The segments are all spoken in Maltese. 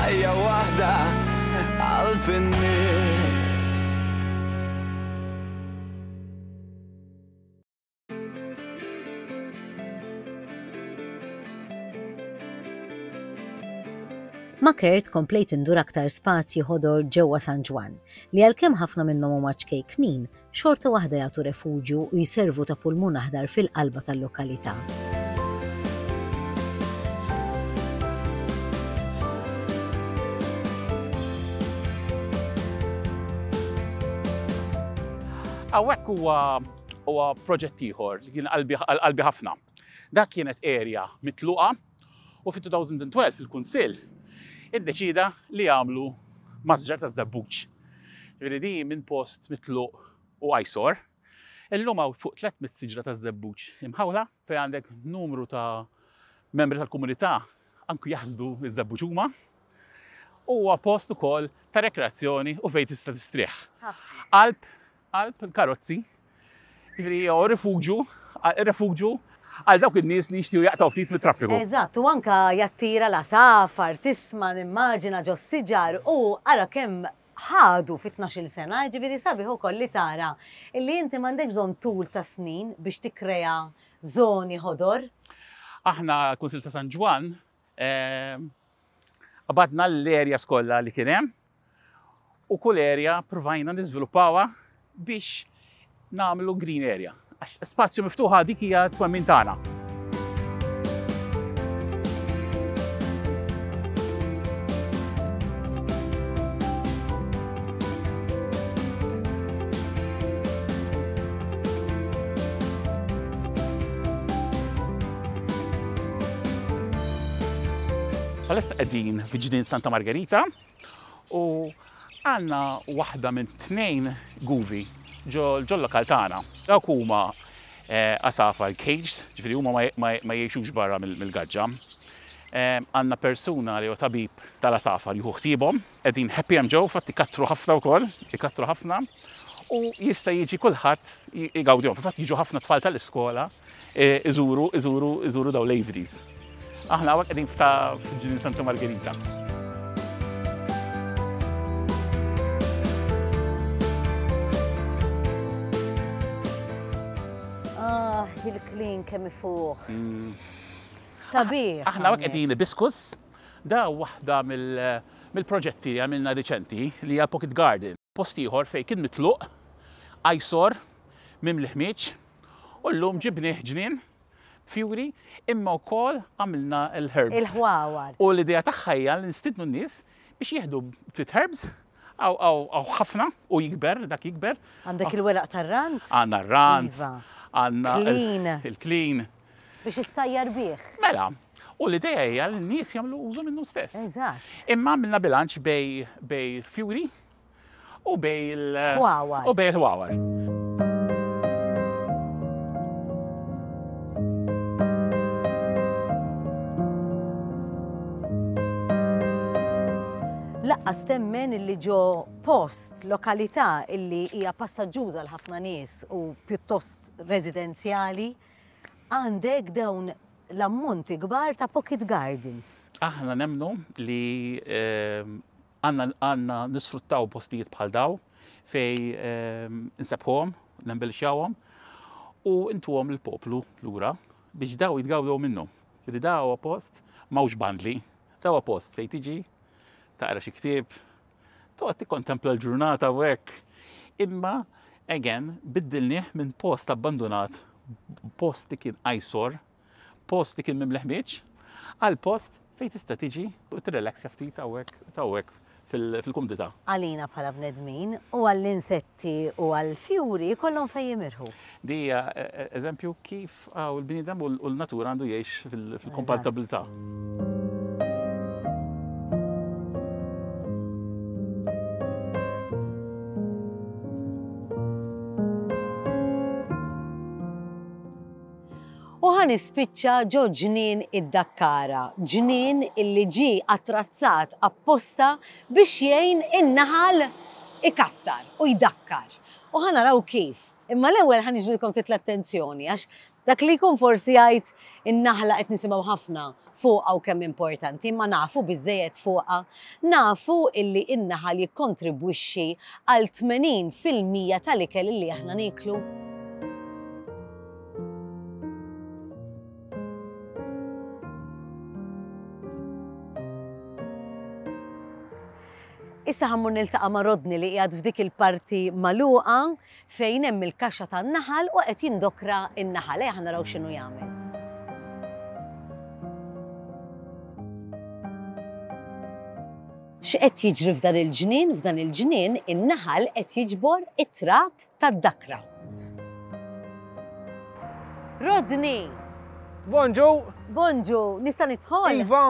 Ħajja waħda qalb in-nies. Ma' Kurt komplejt indur aktar spazji ħodor ġewwa San Ġwann, li għalkemm ħafna minnhom huma ċkejknin, xorta waħda jagħtu refuġju u jservu ta' pulmun aħdar fil-qalba tal-lokalità. Hawnhekk huwa huwa proġett ieħor li kien qalbi ħafna. Dak kienet area mitluqa U fit-2012 il-Kunsill iddeċida li jagħmlu masġar ta' żebbuġ. Ġifieri di minn post mitluq u eyesore, illum hawn fuq 300 siġra ta' żebbuġ imħawla fejn għandek numru ta' membri tal-komunità anki jaħsdu ż-żebbuġ huma. Huwa post ukoll ta' rekreazzjoni u fejn tista' tistrieħ. Qalb qalb il-karozzi, jiġifieri jew rifuġju, refuġju għal dawk in-nies li jixtiequ jaqtgħu ftit mit-traffiku. Eżatt, u anke jattira l-għasafar, tisma' nimmaġina ġos-siġar u ara kemm ħadu fi tnax-il sena, jiġifieri sabiħ ukoll li tara illi inti m'għandekx bżonn tul ta' snin biex tikkrea żoni ħodor. Aħna l-Kunsill ta' San Ġwann Qabadna l-areas kollha li kien hemm u kull area provajna niżviluppawha biex nagħmlu green area. Għax spazju miftuħa dik hija twemmin tagħna. Bħalissa qegħdin fi ġnien Santa Margherita u għandna waħda minn tnejn guvi ġol lokal tagħna. Dawk huma eh, għasafar caged, ġifieri huma ma jgħixux barra mill-gaġġa. Eh, għandna persuna li huwa tabib tal-għasafar jieħu ħsiebhom, qegħdin happy hemm ġew, fatt ikattru ħafna wkoll, ikattru ħafna u jista' jiġi kulħadd jgawdihom. Fil-fatt jiġu ħafna tfal tal-iskola e, iżuru, iżuru, iżuru daw l-Averies. Aħna hawnhekk qegħdin f'ta' f'Ġnien Santa Margherita. Ah, il-klin kemm ifuħ. Mm. Sabiħ. Aħna hawnhekk qegħdin ibiskus Da waħda mill-proġetti li għamilna riċenti li hija Pocket Garden. Post ieħor fejn kien mitluq, eyesore, mimli ħmieġ, u llum ġibnieh ġnien, fjuri, imma wkoll għamilna l-herbs. Il-ħwawar. U l-idea tagħha hija li nistiednu n-nies biex jieħdu ftit herbs, hawn ħafna u jikber, dak jikber. Għandek il-weraq tar-rand? Għandna r-rand. Għandna il-klin. Biex issajjar bih. Mela, u l-idea hija li n-nies jagħmlu użu minnu stess. Eżatt. Imma għamilna bilanċ bej bej fjuri u bej il Ħwawar. U bej il-ħwawar. Laqqas temmen illi ġo post, lokalità illi hija passaġġuża għal ħafna nies u pjuttost residenzjali, Għandek dawn l-ammonti kbar ta' pocket gardens. Aħna nemmnu li għandna nisfruttaw postijiet bħal daw fej insebbħuhom, nembellixxawhom u ntuhom lill-poplu lura biex daw jitgawdew minnhom. Ġifieri da huwa post m'hawnx bandli, da huwa post fejn tiġi taqra xi ktieb, Toqgħod tikkontempla l-ġurnata u hekk. Imma, again, biddilnieh minn post abbandunat, post li kien eyesore, post li kien mimli ħmieġ, għal post fejn tista' tiġi u tirrelaxja ftit hawnhekk hawnhekk fil-kumdità. Għalina bħala bnedmin u għall-insetti u għall-fjuri jkollhom fejn jimirħu. Di hija eżempju kif Aw il-bniedem u l-natura għandu jgħix fil-kompatibilità. U ħa nispiċċa ġo ġnien id-Dakkara, ġnien illi ġie attrazzat apposta biex jgħin in-naħal ikattar u jdakkar. U ħa naraw kif. Imma l-ewwel ħa niġbdilkom ftit l-attenzjoni għax dak li jkun forsi jgħid in-naħla qed nisimgħu ħafna. fuqha u kemm importanti, imma nafu biżżejjed fuqha. Nafu illi n-naħal jikkontribwixxi għal 80% tal-ikel illi aħna nieklu. Issa ħa mmur niltaqa' ma' Rodney li qiegħed f'dik il-parti magħluqa fejn hemm il-kaxxa tan-naħal u qed jindokra n-naħal. Ejja ħa naraw x'inhu jagħmel. X'qed jiġri f'dan il-ġnien? F'dan il-ġnien in-naħal qed jiġbor it-trab tad-dakra. Rodney! Bonġu! Bonġu, nista' nidħol? Iva!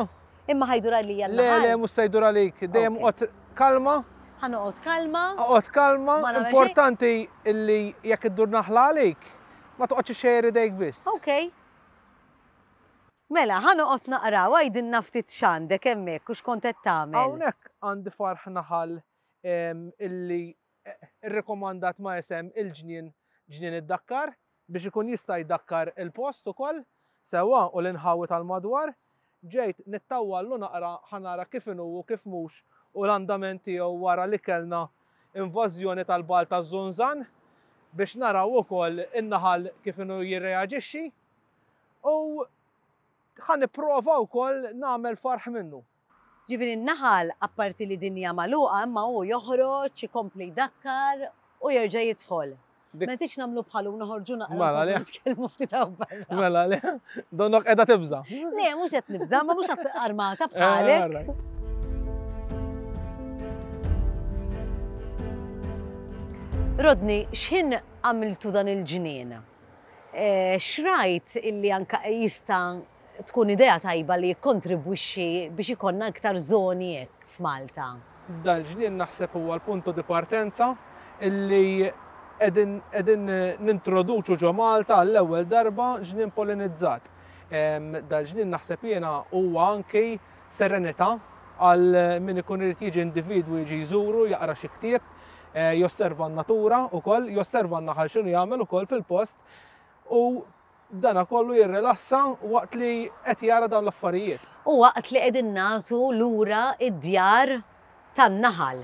Imma ħajdur għalija l-naħal? Le, le, mhux se jdur għalik. Dejjem oqgħod kalma. Ħa noqgħod kalma. Oqgħod kalma. Importanti illi jekk iddur naħla għalik, ma toqgħodx ixxejjer idejk biss. Ok. Mela, ħa noqgħod naqra u għidilna ftit x'għandek hemmhekk u x'kont qed tagħmel. Hawnhekk għandi farħ naħal illi rrikomandat ma' isem il-ġnien Ġnien id-Dakkar biex ikun jista' jdakkar il-post ukoll sewwa u l-inħawi tal-madwar. Ġejt nittawwallu naqra ħa nara kif inhu u kif mhux u l-andament tiegħu wara li kellna invażjoni tal-bagħal taż-żunżan biex naraw ukoll in-naħal kif inhu jirreaġixxi u ħa nipprova wkoll nagħmel farħ minnu. Ġifieri n-naħal apparti li dinja magħluqa imma hu joħroġ, ikompli jdakkar u jerġa' jidħol. Ma tridx nagħmlu bħalu noħorġu naqra mela le. Nitkellmu ftit hawn barra. Mela le. Donnok qiegħda tibża'. Le, mhux qed nibża', ma mhux armata eh, bħalek. Rodney, x'ħin għamiltu dan il-ġnien? Eh, xrajt illi anka jista' tkun idea tajba li jikkontribwixxi biex ikollna iktar żoni hekk f'Malta. Dal-ġnien naħseb huwa l-punto di partenza illi qegħdin qegħdin nintroduċu ġo Malta għall-ewwel darba ġnien pollinizzat. Dal-ġnien naħseb jiena huwa anki serenità għal min ikun irid jiġi individwu jiġi jżuru, jaqra xi ktieb, josserva n-natura wkoll, josserva n-naħal x'inhu jagħmel ukoll fil-post u Dana kollu jirrilassa waqt li qed jara dawn l-affarijiet. U waqt li qegħdin nagħtu lura d-djar tan-naħal.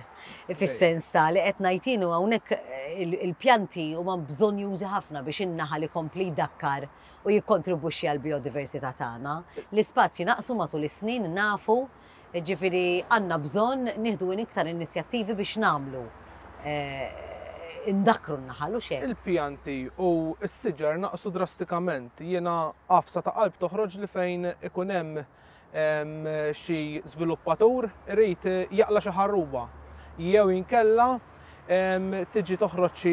Fis-sens ta' li qed ngħid jien hawnhekk il-pjanti huma bżonnjużi ħafna biex in-naħal ikompli jdakkar u jikkontribwixxi għall-bijodiversità tagħna. L-ispazji naqsu matul is-snin nafu Jiġifieri għandna bżonn nieħdu iktar inizjattivi biex nagħmlu indakkru n-naħal u xejn. Il-pjanti u s-siġar naqsu drastikament. Jiena għafsa ta' qalb toħroġ li fejn ikun hemm xi żviluppatur irid jaqla' xi ħarruba jew inkella tiġi toħroġ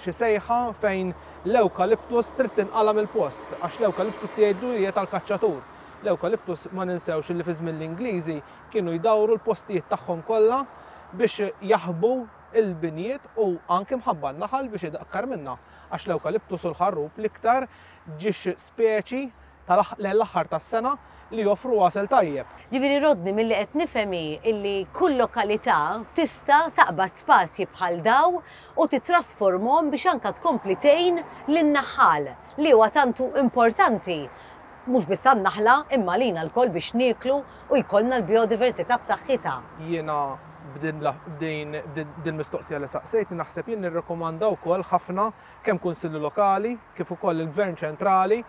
xi sejħa fejn l-ewkaliptus trid tinqala' mill-post għax l-ewkaliptus jgħidu li hija tal-kaċċatur. L-ewkaliptus ma ninsewx li fi żmien l-Ingliżi kienu jdawru l-postijiet tagħhom kollha biex jaħbu l-binjiet u anki mħabba n-naħal biex idakkar minnha għax l-ewkaliptus u l-ħarrub l-iktar ġiex speċi lejn l-aħħar tas-sena li joffru għasel tajjeb. Ġifieri Rodney milli qed nifhem hi illi kull lokalità tista' taqbad spazji bħal daw u tittrasformhom biex anke tkompli tgħin lin-naħħal li huwa tant importanti mhux biss għan-naħla imma għalina lkoll biex nieklu u jkollna l-bijodiversità b'saħħitha. Jiena b'din b'din mistoqsija li saqsejtni naħseb jien nirrikomanda wkoll ħafna kemm kunsilli lokali kif ukoll il-Gvern ċentrali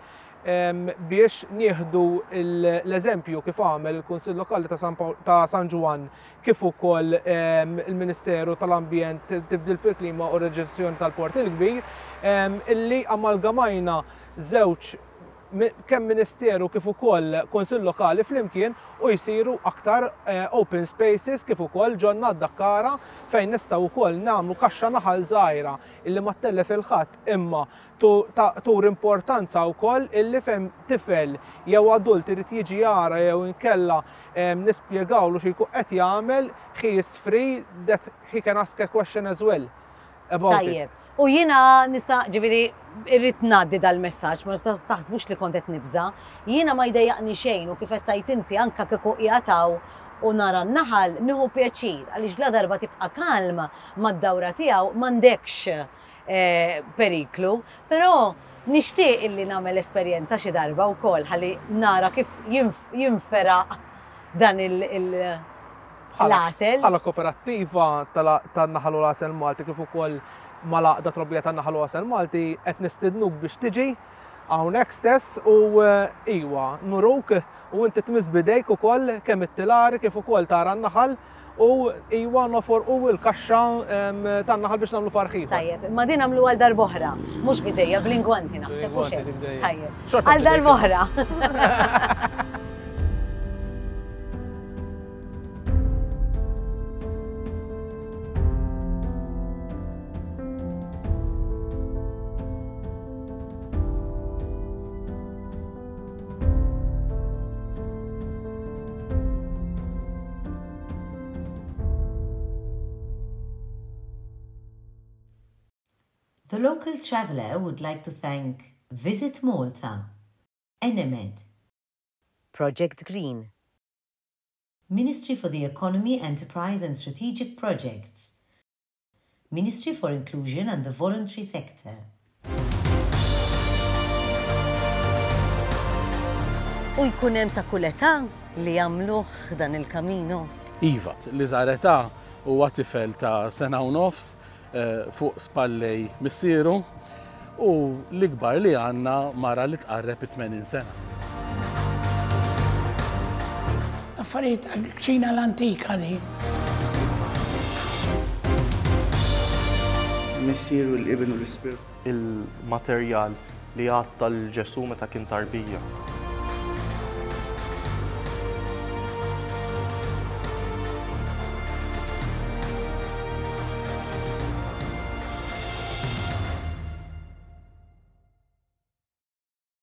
biex nieħdu l-eżempju kif għamel il-Kunsill Lokali ta' San Ġwann kif ukoll il-Ministeru tal-Ambjent, Tibdil fil-Klima u Reġezzjoni tal-Port il-Kbir illi amalgamajna żewġ kemm Ministeru kif ukoll Kunsill Lokali flimkien u jsiru aktar open spaces kif ukoll ġonna għad-dakkara fejn nistgħu wkoll nagħmlu kaxxa naħal żgħira illi ma ttellef 'il ħadd imma turi importanza wkoll illi fejn tifel jew adult irid jiġi jara jew inkella nispjegawlu xi jkun qed jagħmel he is free that he can ask a question as well. about it. Tajjeb. U jiena nista' ġifieri irrid ngħaddi dal-messaġġ, ma taħsbux li kont qed nibża'. Jiena ma jdejjaqni xejn u kif qed tgħid inti anke kieku qiegħed hawn u nara n-naħal nieħu pjaċir għaliex la darba tibqa' kalm mad-dawra tiegħu m'għandekx. eh, periklu, però nixtieq illi nagħmel esperjenza xi darba wkoll ħalli nara kif jinferaq dan il- l-għasel. Bħala koperattiva tan-naħal u l-għasel Malti kif ukoll mal-għaqda trobbija tan-naħal u għasel Malti qed nistidnuk biex tiġi hawnhekk stess u eh, iwa nuruk u inti tmiss bidejk ukoll kemm it-tilar kif ukoll tara n-naħal u iwa noforqu l-kaxxa tan-naħal biex nagħmlu farħ ieħor. Tajjeb, imma din nagħmlu għal darb'oħra, mhux bidejja bl-ingwanti naħseb u xejn. Tajjeb. Għal darb'oħra. The local traveller would like to thank Visit Malta, Enemed, Project Green, Ministry for the Economy, Enterprise and Strategic Projects, Ministry for Inclusion and the Voluntary Sector. U jkun hemm ta' kull età li jagħmluh dan il-Camino? Iva, l-iżgħar età huwa tifel ta' sena u nofs eh, fuq spallej missieru u l-ikbar li għandna mara li tqarreb it-80 sena. Affarijiet tal-kċina l-antika di. Missier u l-Iben u l-Ispirtu. Il-materjal li għatta lil Ġesù meta kien tarbija.